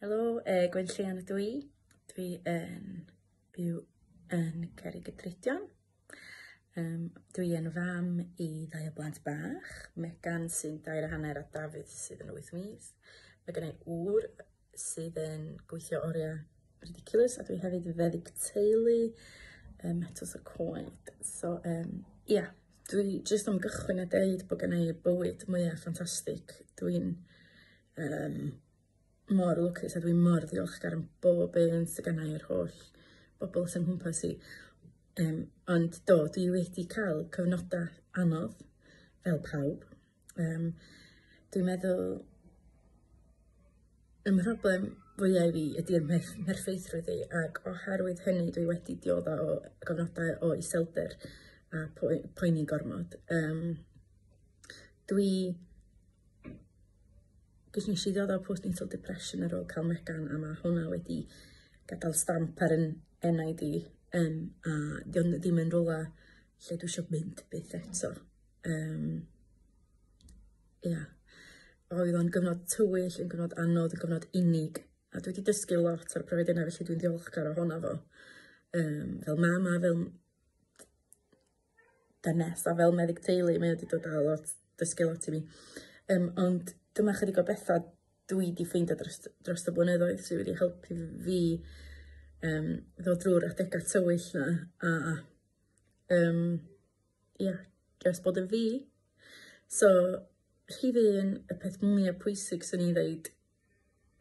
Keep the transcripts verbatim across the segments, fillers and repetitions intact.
Helo, uh, Gwenllian ydw i. Dwi yn byw yn Cerrigydrudion. Um, dwi yn fam i ddau o blant bach, Megan sy'n dair a hanner a Dafydd sydd yn wyth mis. Mae gen i ŵr sydd yn gweithio oriau ridiculous a dwi hefyd yn feddyg teulu um, Metws y Coed. So, um, ia, yeah, dwi jyst am gychwyn a deud bod gen i bywyd mwyaf ffantastig. Dwi'n um, mor lwcus a dwi mor ddiolchgar am bob un sydd gen i, yr holl bobl sy'n nghwmpas i. Um, ond do, dwi wedi cael cyfnodau anodd, fel pawb. Um, dwi'n meddwl, y mhroblem fwyaf i fi ydy'r mherffeithrwydd i, ac oherwydd hynny dwi wedi diodda o gyfnodau o iselder a poeni gormod. Um, dwi Gos nes i ddod o postnatal depression ar ôl cael Megan, a mae hwnna wedi gadael stamp ar yn enaid i, um, a di o'n ddim yn rhywle lle dwi eisiau mynd byth eto. Um, ia. Oedd o'n gyfnod tywyll, yn gyfnod anodd, yn gyfnod unig, a dwi wedi dysgu lot o'r profiad yna, felly dwi'n ddiolchgar ohono fo. Um, fel mama, fel dynes a fel meddyg teulu, mae wedi dod â lot, dysgu lot i mi. Um, ond dyma chydig o bethau dwi wedi ffeindio dros, dros y blynyddoedd sydd wedi helpu fi um, ddod drwy'r adegau tywyll na a um, ia, just bod yn fi. So, rhif un, y peth mwyaf pwysig sy'n i'n dweud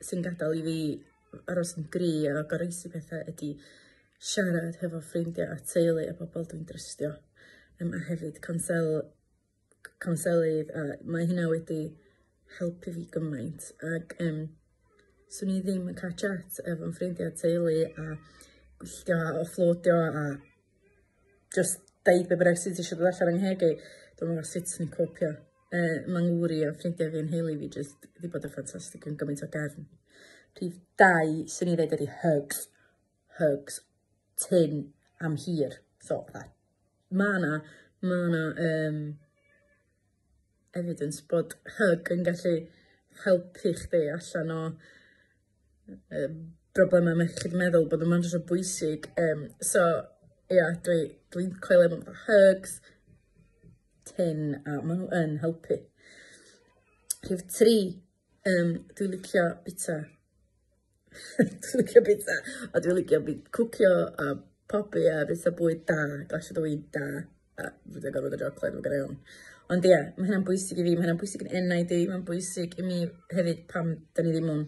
sy'n gadael i fi aros yn gry a goroesi pethau ydy siarad hefo ffrindiau a teulu a bobl dwi'n drystio. Um, a hefyd consel, conselydd, a mae hynna wedi helpu fi gymaint, ac um, swn i ddim yn cael chat efo'n ffrindiau teulu a gwylltio a offloadio a just deud be bynnag sydd eisiau dod allan yng ngheg i. Dwi'm yn gwybod sut swn i'n copio. Uh, Mae'n ngŵr i a ffrindiau fi yn nheulu fi just wedi bod yn ffantastig, yn gymaint o gefn. Rhif dau, swn i ddeud, ydy hugs. Hugs. Tyn am hir. So, fatha, ma' na, ma' na um, evidence bod hug yn gallu helpu chdi allan o um, broblemau iechyd meddwl, bod yma'n jyst o bwysig. Um, so, ia, dwi, dwi'n coelio mewn hugs, tyn, a maen nhw yn helpu. Rhif tri, um, dwi'n licio bita. Dwi'n licio bita, a dwi'n licio cwcio a pobi a bita bwyd da, glasiad o win da, a fydda gorfod o chocolate, mae'n gyda iawn. Ond ia, mae hynna'n bwysig i fi, mae hynna'n bwysig yn enaid i, mae'n bwysig i mi hefyd pam da ni ddim mewn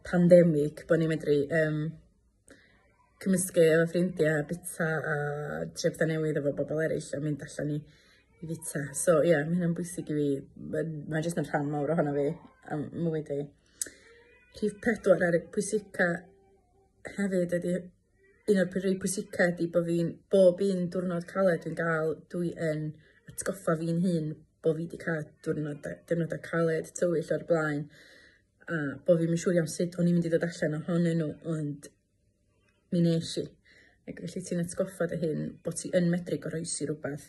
pandemig, bod ni'n medru um, cymysgu efo ffrindiau, bita a trio pethau newydd efo bobl eraill a mynd allan i, i fita. So ia, mae hynna'n bwysig i fi, mae'n ma jyst yn rhan mawr ohono fi am mywyd i. Rhif pedwar ar y pwysica hefyd ydy, un o'r rhai pwysica ydy bod fi'n, bob un diwrnod caled dwi'n gael, dwi yn atgoffa fi'n hun bod fi wedi cael diwrnodau, diwrnodau caled tywyll o'r blaen, a bod fi'n siŵr iawn sut o'n i'n mynd i ddod allan ohonyn nhw, ond mi nes i. Ac felly ti'n atgoffa dy hun bod ti yn medru goroesi rhywbeth,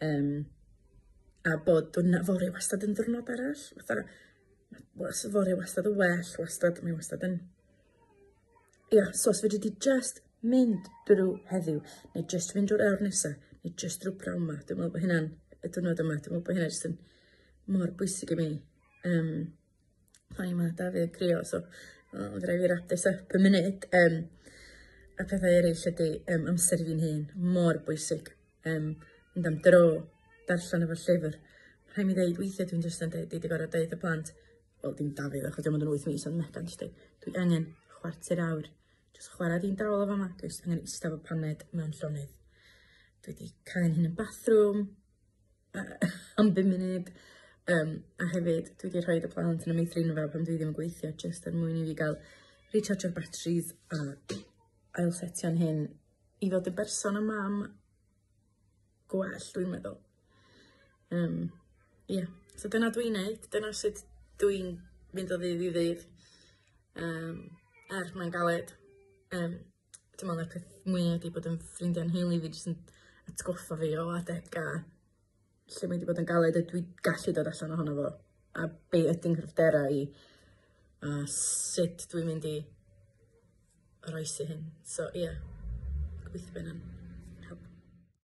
um, a bod diwrnod fory wastad yn diwrnod arall. Fatha, fory wastad yn well, wastad, mae wastad yn... Ia, so os fedri di just mynd drwy heddiw, neu just fynd drwy'r awr nesaf, neu just drwy prawn ma, dwi'n meddwl bod hynna'n, y diwrnod yma, dwi'n meddwl bod hynna jyst yn mor bwysig i mi. Um, O'n i ma Dafydd yn crio, so oh, fydda i fi wrap this up y munud. Um, a pethau eraill ydy um, amser i fi'n hun, mor bwysig. Um, mynd am dro, darllen efo llyfr. Rhaid mi ddeud, weithiau dwi'n jyst yn deud, dwi wedi gorfod deud y plant, wel dim Dafydd achos diolch yn wyth mis, ond Megan jyst deud, dwi angen chwarter awr, jyst chwarae di'n dawel o fama, dwi jyst angen eistedd efo paned mewn llonydd. Dwi wedi cael hyn yn bathroom uh, am bum munud. Um, a hefyd, dwi wedi rhoi y plant yn y meithrinfa pan dwi ddim yn gweithio, jyst er mwyn i fi gael recharge o'r batteries a ailsetio'n hyn i fod yn berson a mam gwell, dwi'n meddwl. Um, yeah. So dyna dwi'n neud, dyna sut dwi'n mynd o ddydd i ddydd. Um, er mae'n galed. Um, dwi'n meddwl na'r peth mwyaf ydi bod yn ffrindiau'n nheulu fi jyst yn atgoffa fi o adegau lle mae wedi bod yn galed a dwi gallu dod allan ohono fo, a be ydy'n nghryfderau i. A sut dwi'n mynd i oroesi hyn. So ie, gobeithio bydd hynna'n